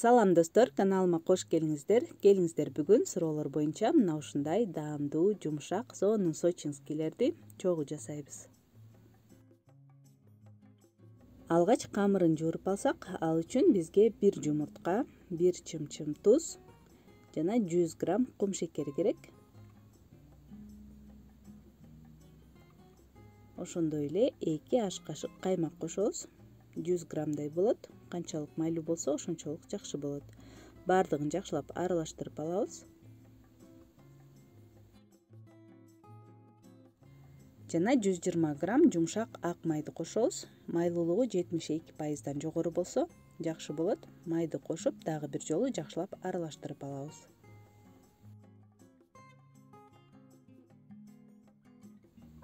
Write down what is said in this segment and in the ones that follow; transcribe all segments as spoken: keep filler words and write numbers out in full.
Салам достор, каналыма кош келиңиздер. Келиңиздер бүгүн суроолор боюнча мына ушундай даамдуу, жумшак сонун сочинскийлерди чогуу жасайбыз. Алгач камырын жууруп алсак, ал үчүн бизге бир жумуртка, бир чымчым туз жана жүз грамм кум шекери керек. Ошондой эле эки аш кашык каймак кошобуз. жүз граммдай болот. Канчалык майлуу болсо, ошончолук жакшы болот. Баардыгын жакшылап аралаштырып алабыз. Жана жүз жыйырма грамм жумшак ак майды кошобуз. Майлуулугу жетимиш эки пайыздан жогору болсо жакшы болот. Майды кошуп, дагы бир жолу жакшылап аралаштырып алабыз.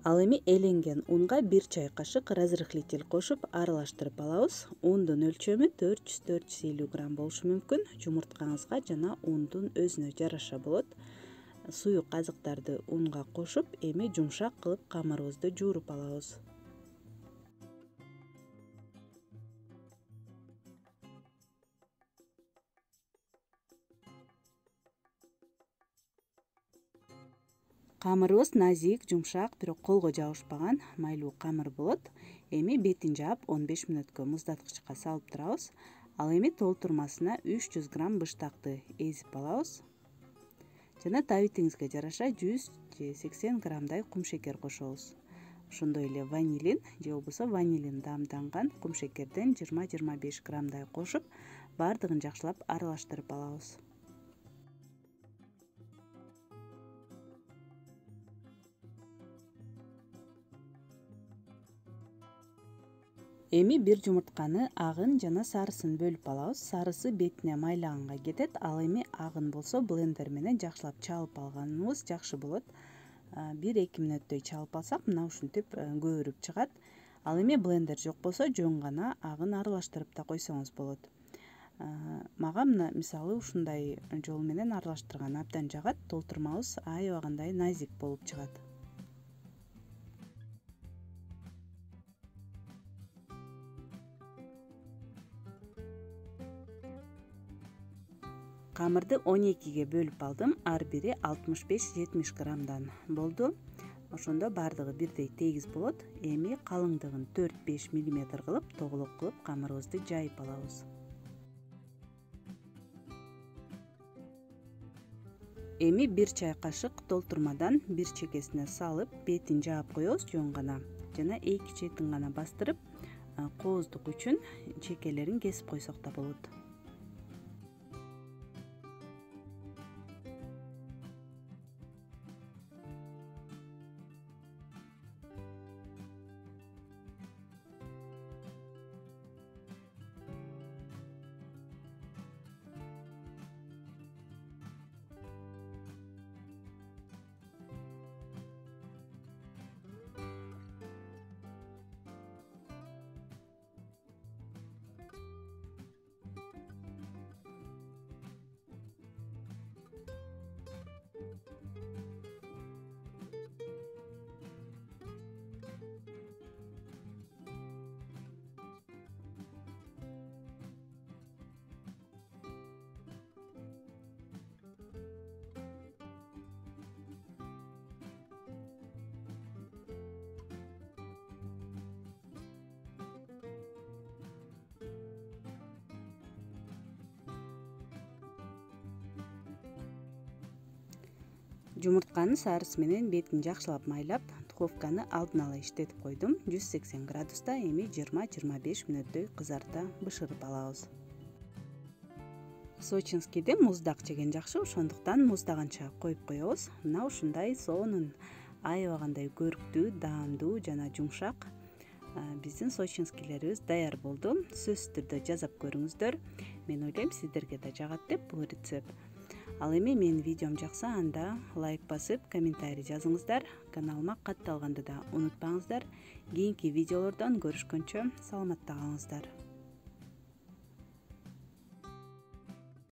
Ал эми эленген унга бир чай кашык разрыхлитель кошуп аралаштырып алабыз. Ундун өлчөмү төрт жүз төрт жүз элүү грамм болушу мүмкүн. Жумурткаңызга жана ундун өзүнө жараша болот. Суюк азыктарды унга кошуп, эми жумшак кылып камырыбызды жууруп алабыз. Камырыбыз назик, жумшак, бирок колго жабышпаган майлуу камыр болот. Эми бетин жаап он беш мүнөткө муздаткычка салып турабыз. Ал эми толтурмасына үч жүз грамм быштакты эзип алабыз. Жана табитиңизге жараша жүз же сексен граммдай кум шекер кошобуз. Ошондой эле ванилин же болбосо ванилин даамданган кум шекерден жыйырма жыйырма беш граммдай кошуп, баардыгын жакшылап аралаштырып алабыз. Эми бир жумуртканы агын жана сарысын бөлүп алабыз. Сарысы бетине майлаганга кетет. Ал эми агын болсо блендер менен жакшылап чалып алганыбыз жакшы болот. бир эки мүнөттөй чалып алсак, мына ушинтип көбүрүп чыгат. Ал эми блендер жок болсо, жөн гана агын аралаштырып да койсоңуз болот. Мага мына мисалы ушундай жол менен аралаштырган абдан жагат. Толтурмабыз аябагандай назик болуп чыгат. Камырды он экиге бөлүп алдым. Ар бири алтымыш беш жетимиш граммдан болду. Ошондо баардыгы бирдей тегиз болот. Эми калыңдыгын төрт беш миллиметр кылып, тоголок кылып камырыбызды жайып алабыз. Эми бир чай кашык толтурмадан бир чекесине салып, бетин жаап коебуз жөн гана. Жана эки четин гана бастырып, кооздук үчүн чекелерин кесип койсок да болот. Жумуртканын сарысы менен бетин жакшылап майлап, духовканы алдын ала иштетип койдум. жүз сексен градуста эми жыйырма жыйырма беш мүнөттөй кызарта бышырып алабыз. Сочинскийди муздак жеген жакшы, ошондуктан муздаганча коюп коебуз. Мына ушундай сонун, аябагандай көрктүү, даамдуу жана жумшак биздин сочинскийлерибиз даяр болду. Сөзсүз түрдө жасап көрүңүздөр. Мен ойлойм, сиздерге да жагат деп бул рецепт. Ал эми менин видеом жакса, анда лайк басып, комментарий жазыңыздар. Каналыма катталганды да унутпаңыздар. Кийинки видеолордон көрүшкөнчө саламатта калыңыздар.